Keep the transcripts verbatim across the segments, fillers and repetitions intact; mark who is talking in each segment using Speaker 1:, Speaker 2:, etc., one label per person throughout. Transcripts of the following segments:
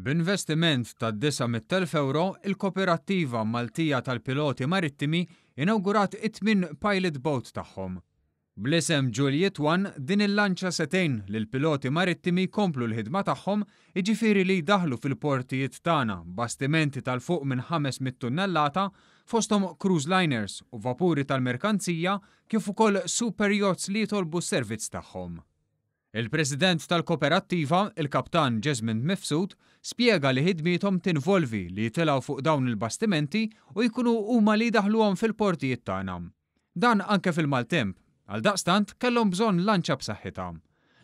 Speaker 1: B'investiment ta' disa' mitt elf euro, il-Koperattiva Maltija tal-Piloti Marittimi inawgurat it-tmien pilot boat tagħhom. Bl-isem Juliet One, din il-lanċa se tgħin lill-piloti marittimi jkomplu l-ħidma tagħhom, jiġifieri li jdaħlu fil-portijiet tagħna bastimenti ta' 'l fuq minn ħames mitt tunnellata, fosthom cruise liners u vapuri tal-merkanzija, kif ukoll super yachts li jitolbu s-servizz tagħhom. Il-President tal-Koperattiva, il-Kaptan Jesmond Mifsud, spjega li ħidmiethom tinvolvi li jitilgħu fuq dawn il-bastimenti u jkunu huma li jdaħluhom fil-portijiet tagħna. Dan anke fil-maltemp, għal daqstant kellhom bżonn lanċa b'saħħitha.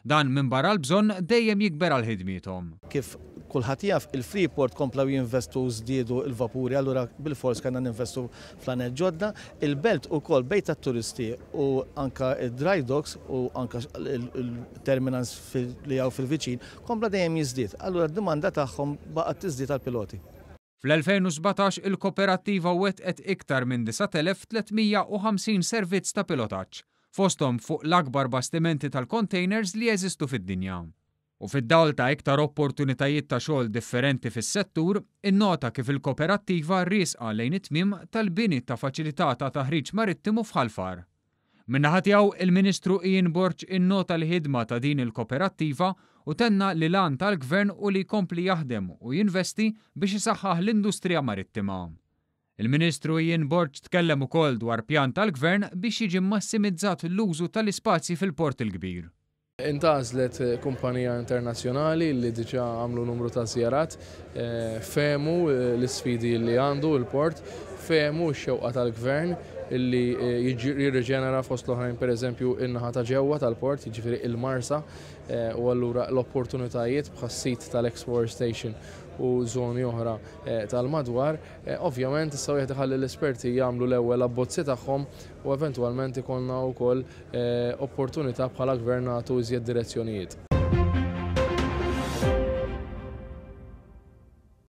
Speaker 1: Dan minn barra l-bżonn dejjem jikber għal ħidmiethom.
Speaker 2: Kif kulħadd jaf, il-Freeport komplaw jinvestu, żdiedu il-vapuri, allura bil-fors kellna ninvestu f'laned ġodda. Il-belt ukoll bejt tat-turisti u anka il-dry docks u anka il-terminals li hawn fil-viċin kompla dejjem jiżdied. Allura d-domanda tagħhom baqgħet tiżdied għal-piloti.
Speaker 1: Fl-elfejn u sbatax il-koperattiva wetqet iktar minn disa' elef tliet mija u ħamsin servizz ta' pilotaġġ, fosthom fuq l-akbar bastimenti tal-containers li jeżistu fid-dinja. U fid-dawl ta' iktar opportunitajiet ta' xogħol differenti fis-settur, innota kif il-koperattiva riesqa lejn it-tmiem tal-bini ta' faċilità ta' taħriġ marittimu f'Ħal Far. Min-naħa tiegħu, il-Ministru Ian Borg innota l-ħidma ta' din il-koperattiva u tenna li l-għan tal-gvern hu li jkompli jaħdem u jinvesti biex isaħħaħ l-industrija marittima. Il-Ministru Ian Borg tkellem ukoll dwar pjan tal-gvern biex jiġi massimizzat l-użu tal-ispazji fil-Port il-Kbir.
Speaker 3: Intgħażlet kumpanija internazzjonali li diġà għamlu numru ta' żjarat, eh, fehmu l-isfidi li għandu il-port, fehmu x-xewqa tal-gvern illi eh, jirriġenera fost l-oħrajn, per eżempju, in-naħa ta' ġewwa tal-port, jiġifieri il-Marsa, eh, u allura l-opportunitajiet bħas-sit tal-Export Station u żoni oħra tal-madwar. Ovvjament, issa wieħed iħalli l-esperti jagħmlu l-ewwel abbozzi tagħhom u eventwalment ikollna wkoll opportunità bħala gvern nagħtu iżjed direzzjonijiet.